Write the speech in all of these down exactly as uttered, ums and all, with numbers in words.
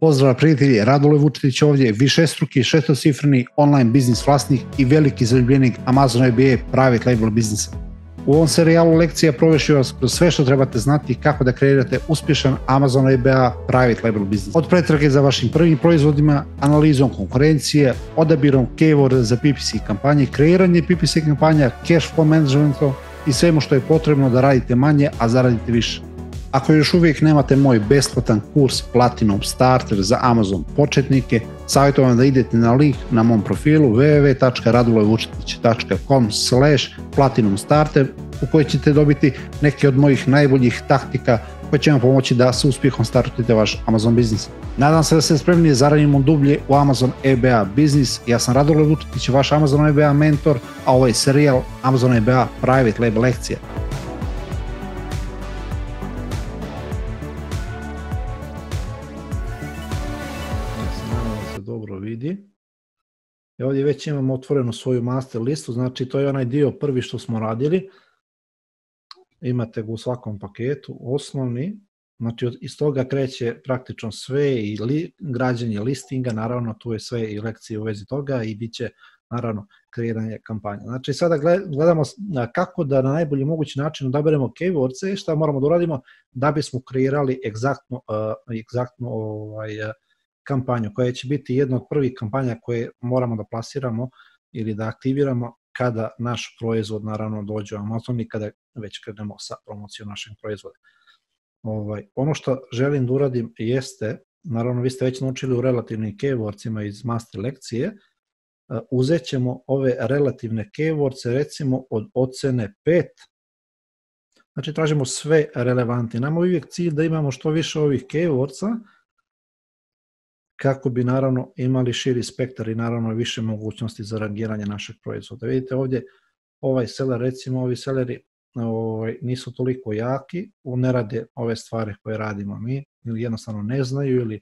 Pozdrav prijatelji, Radule Vučetić ovdje, višestruki šestocifreni online biznis vlasnik i veliki zaljubljenik Amazon E B A private label biznisa. U ovom serijalu lekcija provešću vas kroz sve što trebate znati kako da kreirate uspješan Amazon E B A private label biznis. Od pretrage za vašim prvim proizvodima, analizom konkurencije, odabirom keyworda za P P C kampanje, kreiranje P P C kampanja, cash flow managementom i svemu što je potrebno da radite manje, a zaradite više. Ako još uvijek nemate moj besplatan kurs Platinum Starter za Amazon početnike, savjetujem vam da idete na link na mom profilu w w w tačka radulevučetić tačka com slash platinum starter u kojoj ćete dobiti neke od mojih najboljih taktika koje će vam pomoći da sa uspjehom startujete vaš Amazon biznis. Nadam se da ste spremni za radimo dublje u Amazon E B A biznis. Ja sam Radule Vučetić, vaš Amazon E B A mentor, a ovo je serijal Amazon E B A private label lekcija. Dobro vidi. I ovdje već imamo otvorenu svoju master listu, znači to je onaj dio prvi što smo radili. Imate ga u svakom paketu, osnovni, znači iz toga kreće praktično sve i li, građenje listinga, naravno tu je sve i lekcije u vezi toga i bit će naravno kreiranje kampanja. Znači sada gledamo kako da na najbolji mogući način odaberemo keywordse i šta moramo da uradimo da bismo kreirali egzaktno, uh, egzaktno ovaj, uh, kampanju koja će biti jedna od prvih kampanja koje moramo da plasiramo ili da aktiviramo kada naš proizvod naravno dođe u Amazon i kada već krenemo sa promocijom našeg proizvoda. Ovaj, ono što želim da uradim jeste, naravno vi ste već naučili u relativnim keywordsima iz master lekcije, uh, uzet ćemo ove relativne keywordse recimo od ocene pet, znači tražimo sve relevantne. Nama je uvijek cilj da imamo što više ovih keywordsa kako bi naravno imali širi spektar i naravno više mogućnosti za rangiranje našeg proizvoda. Vidite ovdje ovaj seller, recimo ovi selleri ovaj, nisu toliko jaki, ne rade ove stvari koje radimo mi ili jednostavno ne znaju ili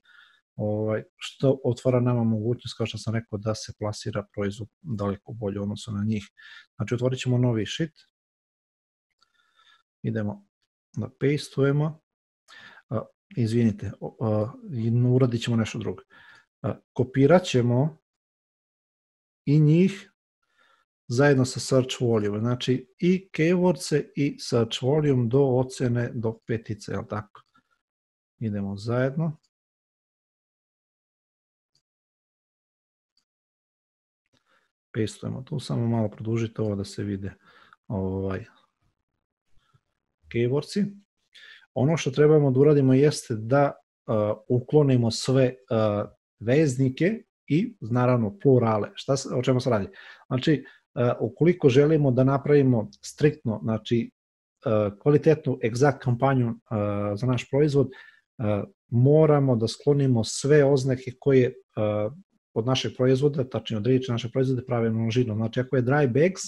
ovaj, što otvara nama mogućnost, kao što sam rekao, da se plasira proizvod daleko bolje u odnosu na njih. Znači otvorit ćemo novi sheet, idemo da pastujemo. Izvinite, uradit ćemo nešto drugo. Kopirat ćemo i njih zajedno sa search volume, znači i keywordse i search volume do ocene do petice, jel tako? Idemo zajedno. Pastujemo tu, samo malo produžite ovo da se vide ovaj, keywordsi. Ono što trebamo da uradimo jeste da uh, uklonimo sve uh, veznike i naravno plurale. Šta, o čemu se radi? Znači, uh, ukoliko želimo da napravimo striktno, znači uh, kvalitetnu egzakt kampanju uh, za naš proizvod, uh, moramo da sklonimo sve oznake koje uh, od našeg proizvoda, tačnije od riječi našeg proizvoda prave množinu. Znači, ako je dry bags,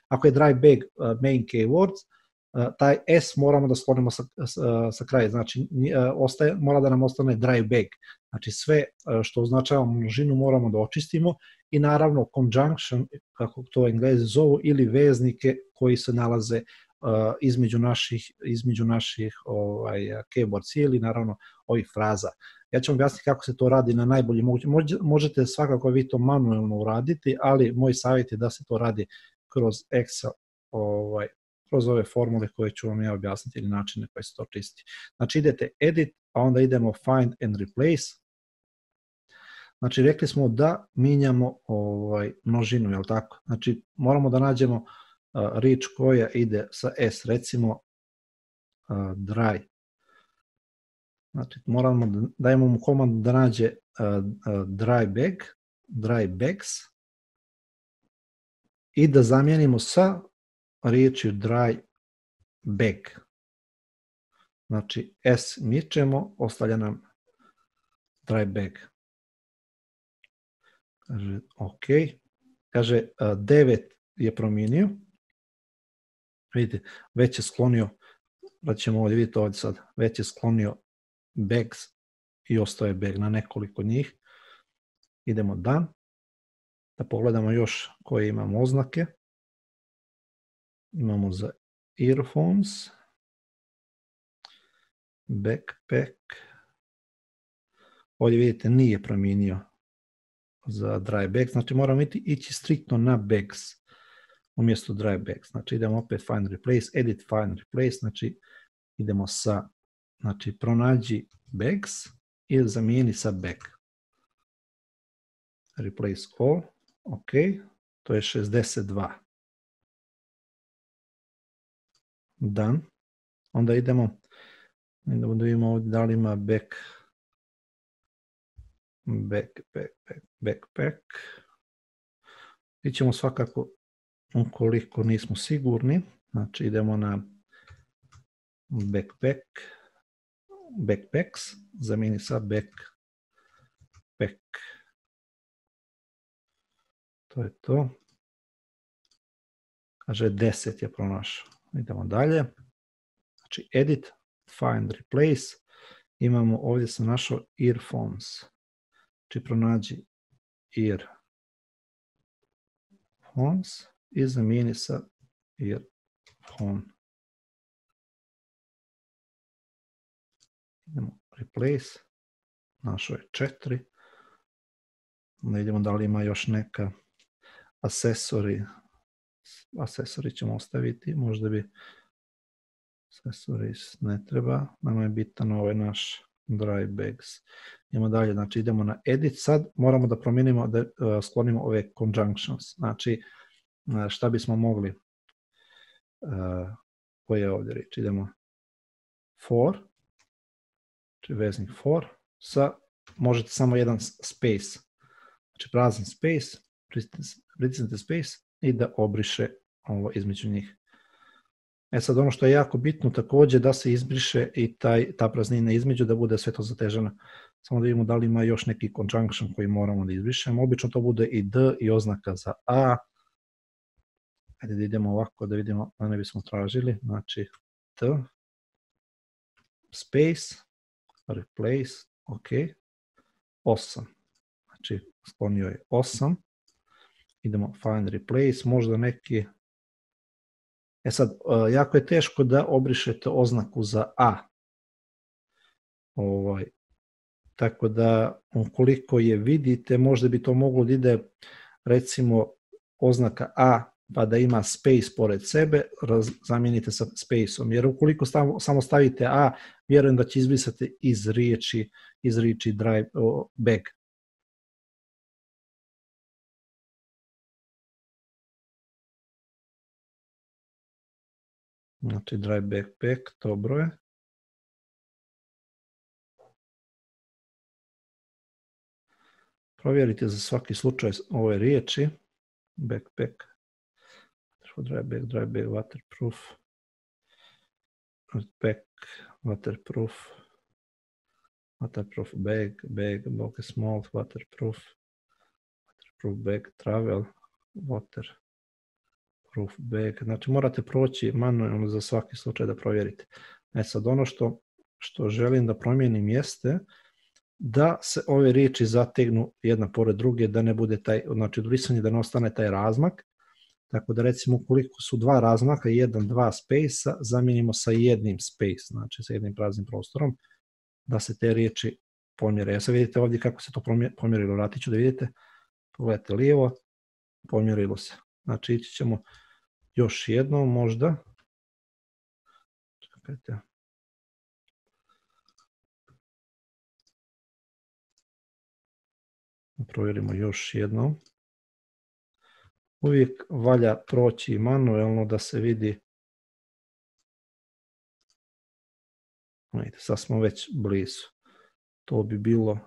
ako je dry bag uh, main keywords, taj S moramo da sklonimo sa, sa, sa kraja, znači ostaje, mora da nam ostane dry bag, znači sve što označava množinu moramo da očistimo i naravno conjunction, kako to Englezi zovu, ili veznike koji se nalaze uh, između naših, između naših ovaj, keywords ili naravno ovih fraza. Ja ću vam objasniti kako se to radi na najbolji mogući, možete svakako vi to manuelno uraditi, ali moj savjet je da se to radi kroz Excel, ovaj, kroz ove formule koje ću vam ja objasniti ili načine koje se to čisti. Znači idete edit, a onda idemo find and replace. Znači rekli smo da mijenjamo ovaj, množinu, jel tako? Znači moramo da nađemo uh, riječ koja ide sa S, recimo uh, dry. Znači moramo da dajemo mu komandu da nađe uh, uh, dry bag, dry bags i da zamijenimo sa riječi dry bag. Znači S mičemo, ostavlja nam dry bag. Kaže ok. Kaže devet je promijenio. Vidite, već je sklonio, da ćemo ovdje vidjeti ovdje sad, već je sklonio bags i ostaje bag na nekoliko njih. Idemo done. Da pogledamo još koje imamo oznake. Imamo za earphones, backpack, ovdje vidite nije promijenio za dry bags, znači moramo ići striktno na bags umjesto dry bags. Znači idemo opet find replace, edit find replace, znači idemo sa, znači pronađi bags i zamijeni sa bag. Replace all, ok, to je šezdeset dva. Done. Onda idemo, idemo da vidimo ovdje da li ima back, back, back, back, backpack. I ćemo svakako, ukoliko nismo sigurni, znači idemo na backpack, backpacks, zamijeni sa backpack. To je to. Kaže deset je pronašao. Idemo dalje. Znači edit, find, replace. Imamo, ovdje sam našao earphones. Znači pronađi earphones i zamijeni sa earphone. Idemo replace. Našao je četiri. Onda idemo da li ima još neka accessory. Accessory ćemo ostaviti, možda bi accessories ne treba, nama je bitan ovaj naš dry bags. Idemo dalje, znači idemo na edit, sad moramo da promijenimo, da uh, sklonimo ove conjunctions, znači uh, šta bismo mogli, uh, koje je ovdje reći, idemo for, znači veznik for, sa, možete samo jedan space, znači prazan space, pritisnite space i da obriše ovo između njih. E sad ono što je jako bitno također da se izbriše i taj, ta praznina između, da bude sve to zateženo. Samo da vidimo da li ima još neki conjunction koji moramo da izbrišemo. Obično to bude i D i oznaka za A. Ajde da idemo ovako da vidimo da ne bismo tražili. Znači T, space, replace, ok, osam. Znači sklonio je osam. Idemo find replace, možda neki. E sad, jako je teško da obrišete oznaku za A. Ovaj, tako da, ukoliko je vidite, možda bi to moglo da ide, recimo, oznaka A, pa da ima space pored sebe, zamijenite sa spaceom. Jer ukoliko stav, samo stavite A, vjerujem da će izbrisati iz riječi, iz riječi drive, oh, bag. Znači dry backpack, dobro je. Provjerite za svaki slučaj ove riječi. Backpack, dry bag, dry bag, waterproof, pack, waterproof, waterproof bag, bag, bulky small, waterproof, waterproof bag, travel, water. Proof bag, znači morate proći manualno za svaki slučaj da provjerite. E sad ono što, što želim da promijenim jeste da se ove riječi zategnu jedna pored druge, da ne bude taj, znači brisanje da ne ostane taj razmak, tako da recimo ukoliko su dva razmaka, jedan, dva space-a, zamijenimo sa jednim space, znači sa jednim praznim prostorom, da se te riječi pomjere. Ja sad vidite ovdje kako se to pomjerilo, vratit ću da vidite, pogledajte lijevo, pomjerilo se. Znači ići ćemo još jednom možda. Čekajte. Provjerimo još jednom. Uvijek valja proći manuelno da se vidi. Vidite, sad smo već blizu. To bi bilo,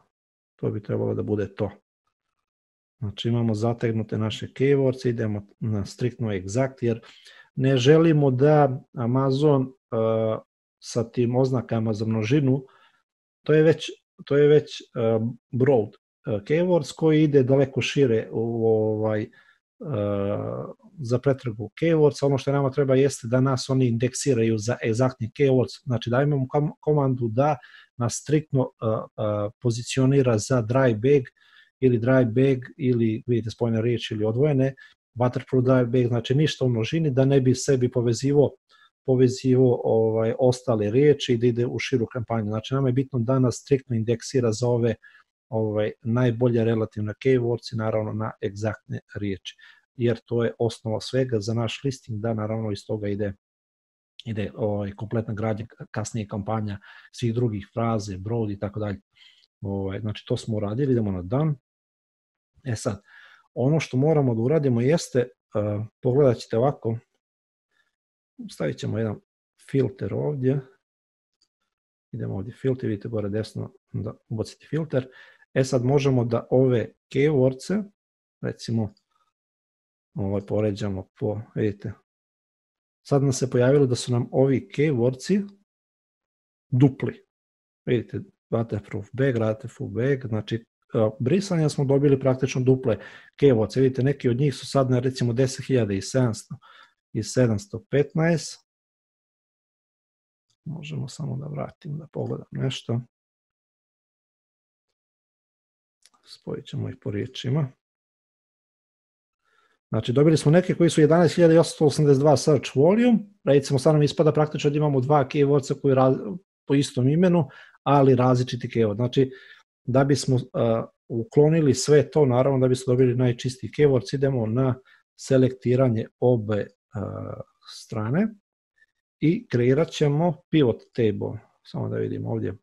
to bi trebalo da bude to. Znači imamo zategnute naše keywords, idemo na striktno exact, jer ne želimo da Amazon uh, sa tim oznakama za množinu, to je već, to je već uh, broad uh, keywords koji ide daleko šire u, ovaj, uh, za pretragu keywords. Ono što nama treba jeste da nas oni indeksiraju za egzaktni keywords, znači da imamo komandu da nas striktno uh, uh, pozicionira za dry bag, ili dry bag, ili vidite spojene riječi ili odvojene, waterproof dry bag, znači ništa u množini, da ne bi sebi povezivo, povezivo ovaj, ostale riječi i da ide u širu kampanju. Znači nama je bitno da nas striktno indeksira za ove ovaj, najbolje relativne keywords i naravno na egzaktne riječi, jer to je osnova svega za naš listing, da naravno iz toga ide ide ovaj, kompletna gradnja, kasnije kampanja, svih drugih fraze, brod i tako dalje. Ovaj, znači to smo uradili, idemo na done. E sad, ono što moramo da uradimo jeste, uh, pogledat ćete ovako, stavit ćemo jedan filter ovdje, idemo ovdje filter, vidite gore desno da ubacite filter. E sad možemo da ove keywordse, recimo, ovaj, poređamo po, vidite, sad nam se pojavilo da su nam ovi keywordsi dupli. Vidite, waterproof bag, waterproof bag, znači brisanja smo dobili praktično duple keywordse. Vidite, neki od njih su sad na recimo deset hiljada sedamsto i sedamsto petnaest. Možemo samo da vratim, da pogledam nešto. Spojit ćemo ih po riječima. Znači, dobili smo neke koji su jedanaest hiljada osamsto osamdeset dva search volume, recimo sad nam ispada praktično da imamo dva keywordsa koji raz, po istom imenu, ali različiti keyword. Znači, da bismo uh, uklonili sve to, naravno da bismo dobili najčistiji keywords, idemo na selektiranje obe uh, strane i kreirat ćemo pivot table, samo da vidimo ovdje,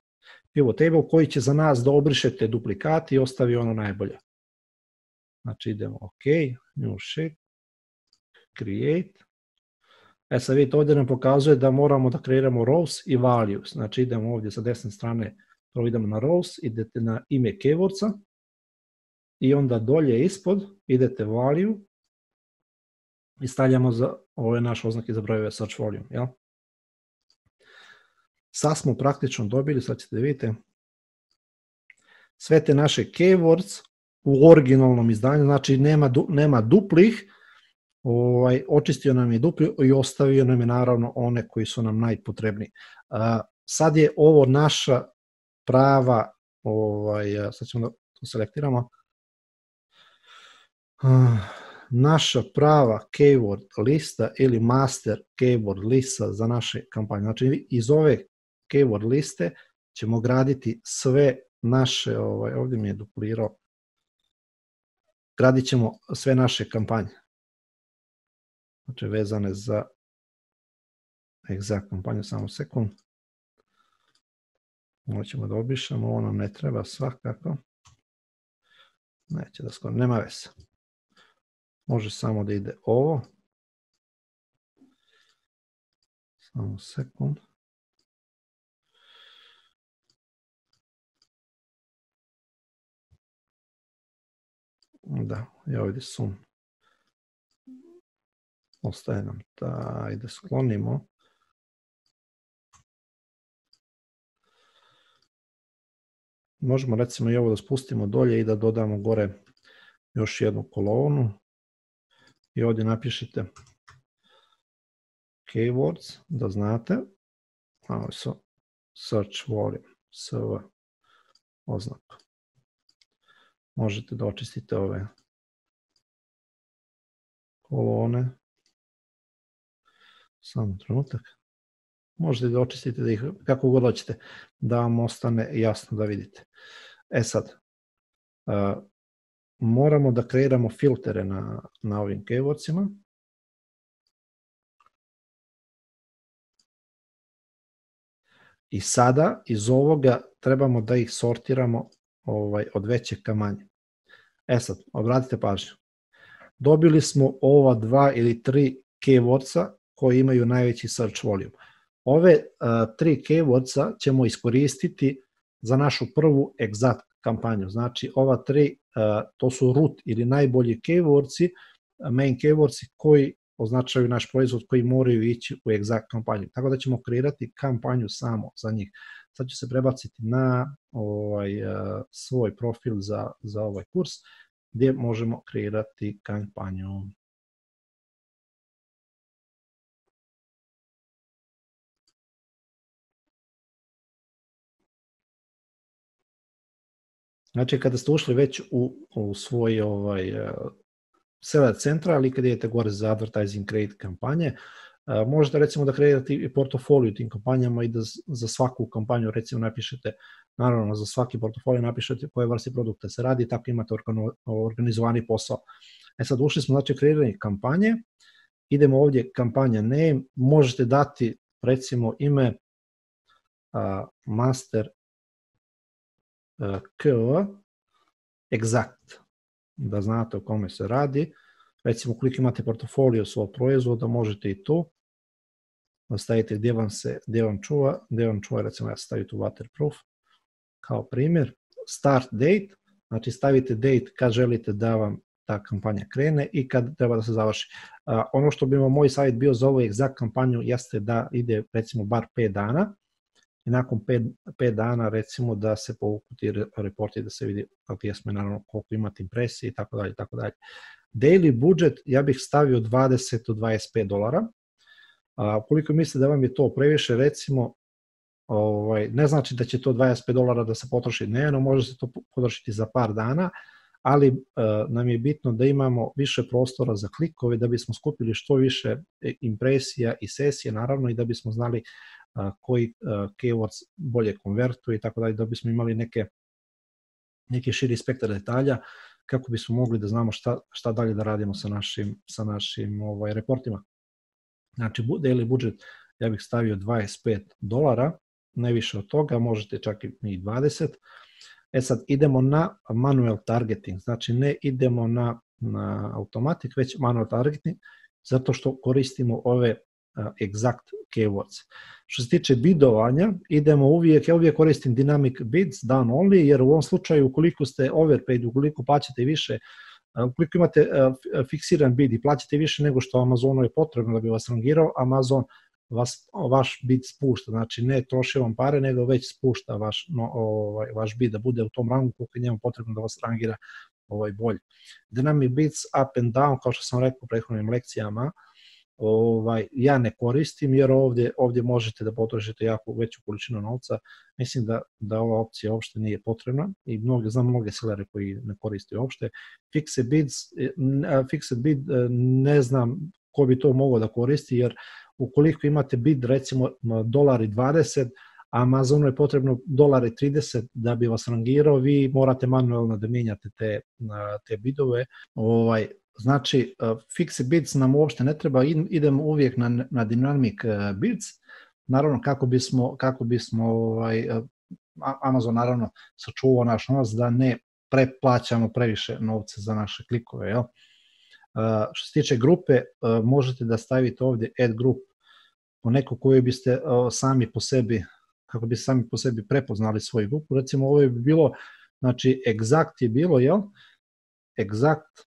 pivot table koji će za nas da obrišete duplikati i ostavi ono najbolje. Znači idemo OK, new sheet, create. E sad vidite, ovdje nam pokazuje da moramo da kreiramo rows i values. Znači idemo ovdje sa desne strane, prvo idemo na rows, idete na ime keywordsa i onda dolje ispod idete value i stavljamo za ove naše oznake za brojeve search volume. Jel? Sad smo praktično dobili, sad ćete vidite, sve te naše keywords u originalnom izdanju, znači nema, du, nema duplih, ovaj, očistio nam je dupli i ostavio nam je naravno one koji su nam najpotrebniji. Uh, sad je ovo naša prava, ovaj, sad ćemo da to selektiramo, uh, naša prava keyword lista ili master keyword lista za naše kampanje. Znači iz ove keyword liste ćemo graditi sve naše, ovaj, ovdje mi je duplirao, gradit ćemo sve naše kampanje. Znači vezane za egzakt kampanju, samo sekund. Ovo ćemo da obišemo, ovo nam ne treba svakako. Neće da skoro, nema veze. Može samo da ide ovo. Samo sekund. Da, ja ovdje sum. Ostaje nam da, ajde sklonimo. Možemo recimo i ovo da spustimo dolje i da dodamo gore još jednu kolonu. I ovdje napišite keywords, da znate. Ovo su search volume, S V oznaku. Možete da očistite ove kolone. Samo trenutak. Možete da očistite da ih kako god hoćete, da vam ostane jasno da vidite. E sad, uh, moramo da kreiramo filtere na, na ovim keywordsima. I sada iz ovoga trebamo da ih sortiramo ovaj, od veće ka manje. E sad, obratite pažnju. Dobili smo ova dva ili tri keywordsa koji imaju najveći search volume. Ove uh, tri keywordsa ćemo iskoristiti za našu prvu exact kampanju. Znači ova tri, uh, to su root ili najbolji keywordsi, main keywordsi koji označaju naš proizvod koji moraju ići u exact kampanju. Tako da ćemo kreirati kampanju samo za njih. Sad ću se prebaciti na ovaj, uh, svoj profil za, za ovaj kurs gdje možemo kreirati kampanju. Znači, kada ste ušli već u, u svoj ovaj, seller centra, ali kada idete gore za advertising create kampanje, uh, možete recimo da kreirate i portofolio tim kampanjama i da za svaku kampanju recimo napišete naravno za svaki portfolio napišete koje vrste produkta se radi, tako imate organizovani posao. E sad ušli smo, znači, kreiranje kampanje, idemo ovdje kampanja name, možete dati recimo ime uh, master uh, K exact, da znate o kome se radi. Recimo, ukoliko imate portfolio svog proizvoda, možete i tu da stavite gdje vam se, gdje vam čuva, gdje vam čuva, recimo ja stavim tu waterproof kao primjer. Start date, znači stavite date kad želite da vam ta kampanja krene i kad treba da se završi. Uh, ono što bi vam moj savjet bio za ovu egzakt kampanju jeste da ide recimo bar pet dana i nakon pet dana recimo da se povuku ti reporti, da se vidi gdje smo, naravno koliko imate impresije i tako dalje, tako dalje. Daily budget ja bih stavio dvadeset do dvadeset pet dolara. Uh, ukoliko mislite da vam je to previše, recimo, ovaj, ne znači da će to dvadeset pet dolara da se potroši dnevno, može se to potrošiti za par dana, ali uh, nam je bitno da imamo više prostora za klikove, da bismo skupili što više impresija i sesije, naravno, i da bismo znali uh, koji uh, keywords bolje konvertuju i tako dalje, da bismo imali neke, neke širi spektar detalja, kako bismo mogli da znamo šta, šta dalje da radimo sa našim, sa našim ovaj, reportima. Znači, daily budget ja bih stavio dvadeset pet dolara, ne više od toga, možete čak i dvadeset. E sad, idemo na manual targeting, znači ne idemo na, na automatic, već manual targeting, zato što koristimo ove uh, exact keywords. Što se tiče bidovanja, idemo uvijek, ja uvijek koristim dynamic bids, down only, jer u ovom slučaju, ukoliko ste overpaid, ukoliko plaćate više, ukoliko imate uh, fiksiran bid i plaćate više nego što Amazonu je potrebno da bi vas rangirao, Amazon vas, vaš bid spušta, znači ne troši vam pare, nego već spušta vaš, no, ovaj, vaš bid da bude u tom rangu koliko je njemu potrebno da vas rangira ovaj, bolje. Dynamic bids up and down, kao što sam rekao u prethodnim lekcijama, ovaj, ja ne koristim, jer ovdje, ovdje možete da potrošite jako veću količinu novca. Mislim da, da ova opcija uopšte nije potrebna i mnogi, znam mnoge sellere koji ne koriste uopšte. Fixed bids, fixed bid ne znam ko bi to mogao da koristi, jer ukoliko imate bid recimo dolar i dvadeset, a Amazonu je potrebno dolar i trideset da bi vas rangirao, vi morate manualno da mijenjate te, te bidove. Ovaj, znači, fixed bids nam uopšte ne treba, idemo uvijek na, na dynamic bids, naravno kako bismo, kako bismo ovaj, Amazon naravno sačuvao naš novac da ne preplaćamo previše novca za naše klikove, jel? Uh, što se tiče grupe, uh, možete da stavite ovdje add group po neko koju biste uh, sami po sebi, kako bi sami po sebi prepoznali svoju grupu. Recimo ovo je bilo, znači exact je bilo, jel? Exact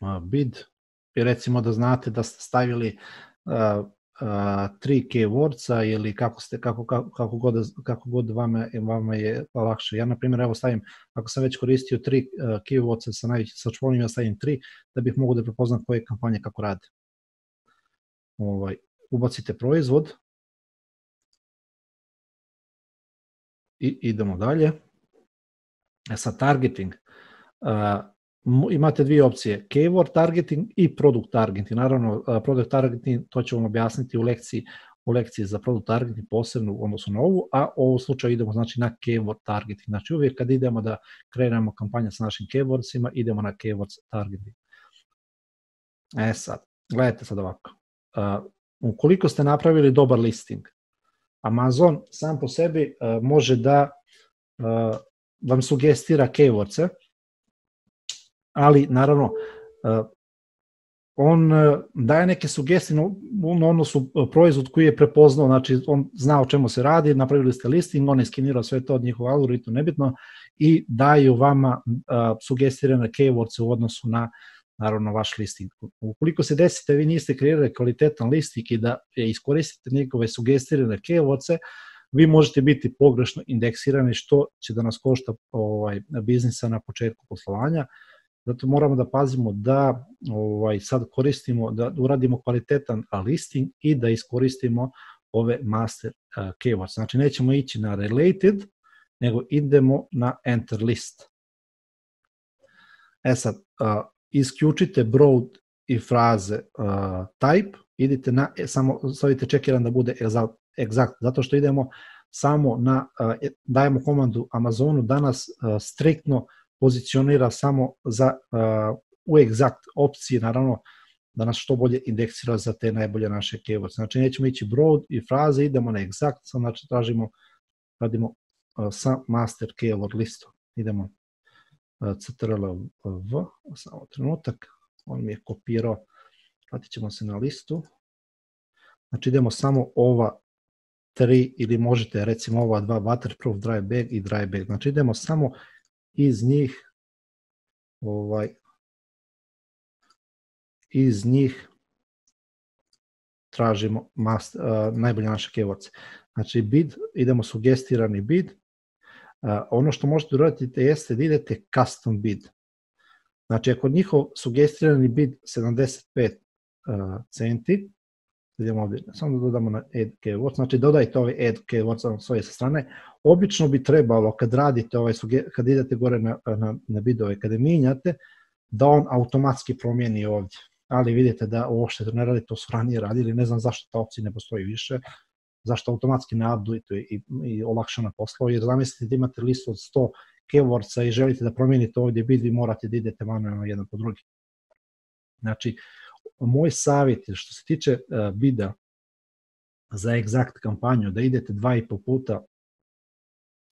uh, bid i recimo da znate da ste stavili uh, uh, tri keywordsa ili kako, ste, kako, kako, kako, god, kako god vama, vama je lakše. Ja, na primjer, evo stavim, ako sam već koristio tri uh, keywordsa sa najvećim sačuvanjem, ja stavim tri, da bih mogu da prepoznam koje kampanje kako rade. Ovaj, ubacite proizvod i idemo dalje. E sad, targeting. Uh, imate dvije opcije, keyword targeting i product targeting. Naravno, product targeting, to ću vam objasniti u lekciji, u lekciji za product targeting posebno u odnosu na ovu, a u ovom slučaju idemo znači na keyword targeting. Znači uvijek kad idemo da kreiramo kampanje sa našim keywordsima, idemo na keyword targeting. E sad, gledajte sad ovako. Uh, ukoliko ste napravili dobar listing, Amazon sam po sebi uh, može da uh, vam sugestira keywordse, ali naravno on daje neke sugestije u odnosu proizvod koji je prepoznao, znači on zna o čemu se radi, napravili ste listing, on je skenirao sve to od njihova algoritma, nebitno, i daju vama sugestirane keywordse u odnosu na, naravno, vaš listing. Ukoliko se desite, vi niste kreirali kvalitetan listing i da iskoristite njegove sugestirane keywordse, vi možete biti pogrešno indeksirani, što će da nas košta ovaj, biznisa na početku poslovanja. Zato moramo da pazimo da ovaj, sad koristimo, da uradimo kvalitetan listing i da iskoristimo ove master uh, keywords. Znači nećemo ići na related, nego idemo na enter list. E sad, uh, isključite broad i fraze uh, type, idite na, samo stavite check jedan da bude exact, zato što idemo samo na, dajemo komandu Amazonu da nas striktno pozicionira samo za u egzakt opcije, naravno da nas što bolje indeksira za te najbolje naše keywords. Znači nećemo ići broad i fraze, idemo na egzakt, znači tražimo, radimo sa master keyword listu. Idemo ctrl v, samo trenutak, on mi je kopirao, vratit ćemo se na listu. Znači idemo samo ova tri ili možete recimo ova dva, waterproof, dry bag i dry bag. Znači idemo samo iz njih ovaj iz njih tražimo mast, uh, najbolje naše keywords. Znači bid, idemo sugestirani bid. Uh, ono što možete uraditi jeste da idete custom bid. Znači ako njihov sugestirani bid sedamdeset pet uh, centi, idemo ovdje, samo da dodamo na add keywords, znači dodajte ovaj add keywords s ove strane. Obično bi trebalo kad radite ovaj, kad idete gore na, na, na bidove, kada minjate, da on automatski promijeni ovdje. Ali vidite da uopšte to ne radi, to su ranije radili, ne znam zašto ta opcija ne postoji više, zašto automatski ne update i, i olakšana poslova, jer zamislite da imate listu od sto keywordsa i želite da promijenite ovdje bid, vi morate da idete manualno jedan po drugi. Znači, moj savjet je što se tiče uh, bida za egzakt kampanju, da idete dva i po puta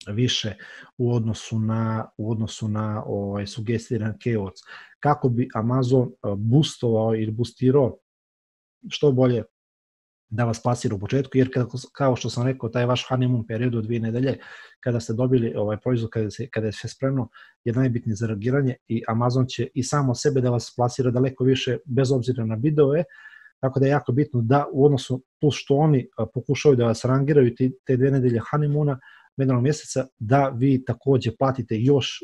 više u odnosu na, u odnosu na ovaj, sugestiran keywords, kako bi Amazon boostovao ili boostirao što bolje da vas plasira u početku, jer kada, kao što sam rekao, taj vaš honeymoon period od dvije nedelje, kada ste dobili ovaj proizvod, kada, se, kada je sve spremno, je najbitnije za reagiranje i Amazon će i samo sebe da vas plasira daleko više, bez obzira na bidove, tako da je jako bitno da u odnosu, plus što oni pokušaju da vas rangiraju te, te dve nedelje honeymoona, jednog mjeseca, da vi takođe platite još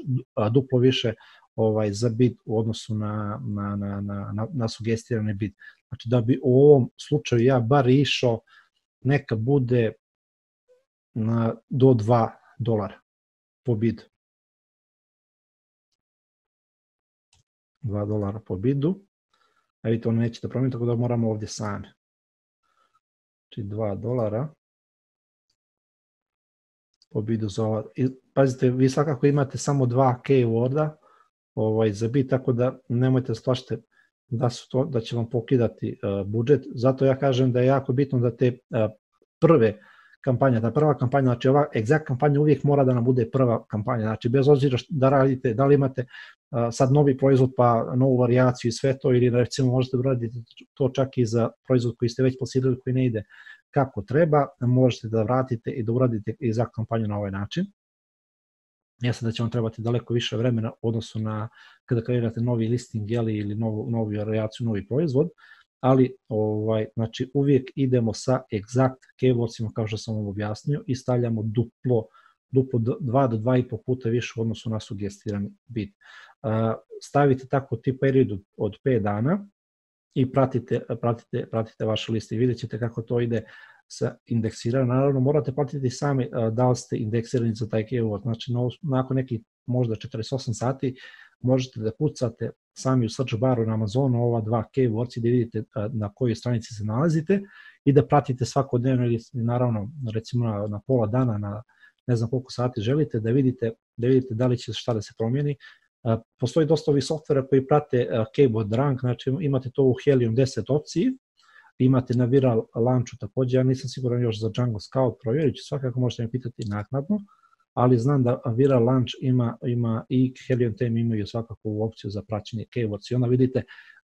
duplo više ovaj, za bid u odnosu na, na, na, na, na sugestirani bid. Znači da bi u ovom slučaju ja bar išao, neka bude na, do dva dolara po bidu. dva dolara po bidu. A vidite, ono neće da promijeniti, tako da moramo ovdje sami. Znači dva dolara. Po bidu za ova. I, pazite, vi svakako imate samo dva keyworda ovaj, za bid, tako da nemojte splašiti da, su to, da će vam pokidati uh, budžet. Zato ja kažem da je jako bitno da te uh, prve kampanje, ta prva kampanja, znači ova egzakt kampanja uvijek mora da nam bude prva kampanja, znači bez obzira da radite, da li imate uh, sad novi proizvod pa novu varijaciju i sve to, ili recimo možete da radite to čak i za proizvod koji ste već plasirali koji ne ide kako treba, možete da vratite i da uradite egzakt kampanju na ovaj način. Jasno da će vam trebati daleko više vremena u odnosu na kada kreirate novi listing jeli, ili novu, novu varijaciju, novi proizvod, ali ovaj, znači, uvijek idemo sa egzakt keywordsima kao što sam vam objasnio i stavljamo duplo, duplo dva do dva i po puta više u odnosu na sugestirani bid. Uh, stavite tako ti period od pet dana i pratite, pratite, pratite vaše liste i vidjet ćete kako to ide sa indeksiranjem. Naravno, morate platiti sami uh, da li ste indeksirani za taj keyword. Znači, no, nakon nekih možda četrdeset osam sati možete da kucate sami u search baru na Amazonu ova dva keywords i da vidite uh, na kojoj stranici se nalazite i da pratite svakodnevno ili naravno recimo na, na pola dana, na ne znam koliko sati želite, da vidite da vidite da li će šta da se promijeni. Uh, postoji dosta ovih softvera koji prate uh, keyword rank, znači imate to u Helium deset opciji, imate na Viral Launchu također, ja nisam siguran još za Django Scout, provjerit ću, svakako možete me pitati naknadno, ali znam da Viral Launch ima, ima i Helium Theme imaju svakako u opciju za praćenje keywords i onda vidite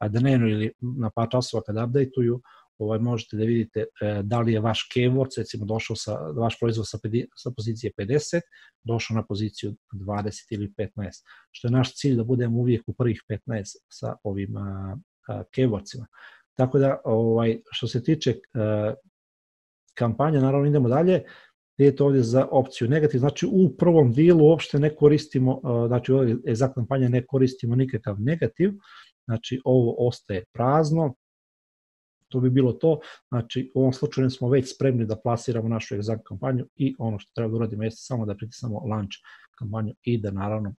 dnevno ili na par časova kada updateuju, ovaj, možete da vidite e, da li je vaš keywords, recimo došao sa, vaš proizvod sa, sa pozicije pedeset, došao na poziciju dvadeset ili petnaest, što je naš cilj da budemo uvijek u prvih petnaest sa ovim a, a, keywordsima. Tako da, ovaj, što se tiče uh, kampanje, naravno idemo dalje, idete ovdje za opciju negativ, znači u prvom dijelu uopšte ne koristimo, uh, znači u ovoj egzakt kampanje ne koristimo nikakav negativ, znači ovo ostaje prazno, to bi bilo to, znači u ovom slučaju smo već spremni da plasiramo našu egzakt kampanju i ono što treba da uradimo jeste samo da pritisnemo launch kampanju i da naravno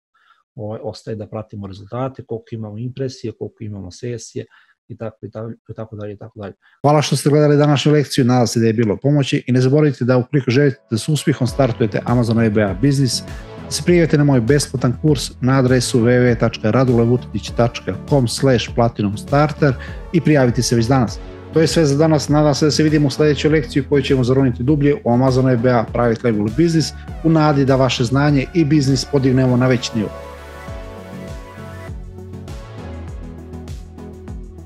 ovaj, ostaje da pratimo rezultate, koliko imamo impresije, koliko imamo sesije, i tako i tako dalje i tako dalje. Hvala što ste gledali današnju lekciju, nadam se da je bilo pomoći i ne zaboravite da ukoliko želite da s uspjehom startujete Amazon E B A biznis, da se prijavite na moj besplatan kurs na adresu w w w tačka radulevutetić tačka com slash platinum starter i prijaviti se već danas. To je sve za danas, nadam se da se vidimo u sljedećoj lekciji u kojoj ćemo zaroniti dublje u Amazon E B A Private Label Business u nadi da vaše znanje i biznis podignemo na veći nivo.